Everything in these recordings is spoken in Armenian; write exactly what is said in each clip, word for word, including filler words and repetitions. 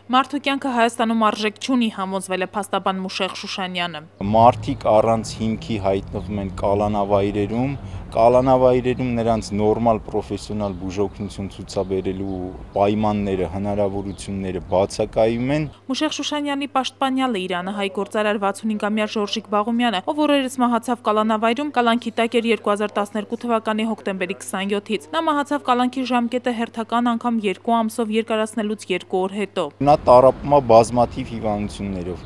Մարդու կյանքը Հայաստանում արժեք չունի, համոզվել է փաստաբան Մուշեղ Շուշանյանը։ Մարդիկ առանց հիմքի հայտնվում են կալանավայրերում, կալանավայրերում նրանց նորմալ պրոֆեսիոնալ բուժօգնություն ցուցաբերելու պայմանները, հնարավորությունները բացակայում են։ Մուշեղ Շուշանյանի պաշտպանյալը Իրանը հայ գործարար վաթսունհինգամյա Ժորժիկ Բաղումյանը, ով օրերս մահացավ կալանավայրում, կալանքի տակ էր երկու հազար տասներկու թվականի հոկտեմբերի քսանյոթից։ Նա մահացավ կալանքի ժամկետը հերթական անգամ երկու ամսով երկարացնելուց երկու օր հետո։ Նա տառապում է բազմաթիվ հիվանդություններով,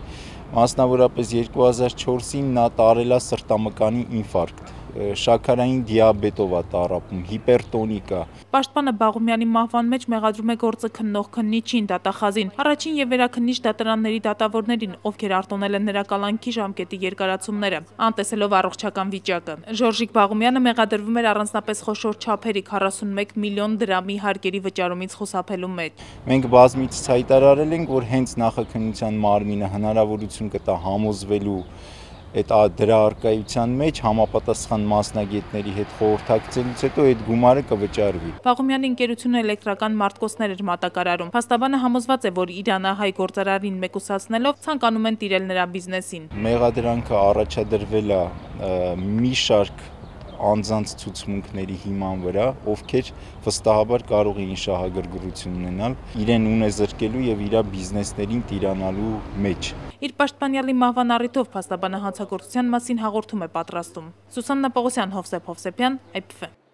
մասնավորապես երկու հազար չորսին նա տարել է սրտամկանի ինֆարկտ, շաքարային դիաբետով է տառապում, հիպերտոնիկ է։ Պաշտպանը Բաղումյանի մահվան մեջ մեղադրում է գործը քննող քննիչին, դատախազին, առաջին եւ վերաքննիչ դատարանների դատավորներին, ովքեր արտոնել են նրա կալանքի ժամկետի երկարացումները, անտեսելով առողջական վիճակը։ Ժորժիկ Բաղումյանը մեղադրվում էր առանձնապես խոշոր չափերի քառասունմեկ միլիոն դրամի հարկերի վճարումից խուսափելու մեջ։ Մենք բազմիցս հայտարարել ենք, որ հենց նախաքննության մարմինը հնարավորություն կտա համոզվելու այդ դրա առկայության մեջ համապատասխան մասնագետների հետ խորհրդակցելուց հետո այդ գումարը կվճարվի։ Բաղումյանի ընկերությունը էլեկտրական մարտկոցներ էր մատակարարում։ Փաստաբանը համոզված է, որ Իրանը հայ գործարարին մեկուսացնելով ցանկանում են տիրել նրա բիզնեսին։ Մեղադրանքը առաջադրվել է մի շարք անձանց ցուցմունքների հիման վրա, ովքեր վստահաբար կարող էին շահագրգռություն ունենալ, իրեն ունեզրկելու եւ իր բիզնեսներին տիրանալու մեջ։ Իր պաշտպանյալի մահվան առիթով փաստաբանը հանցագործության մասին հաղորդում է պատրաստում։ Սուսաննա Պողոսյան, Հովսեփ Հովսեփյան, Այ Փ Ֆ։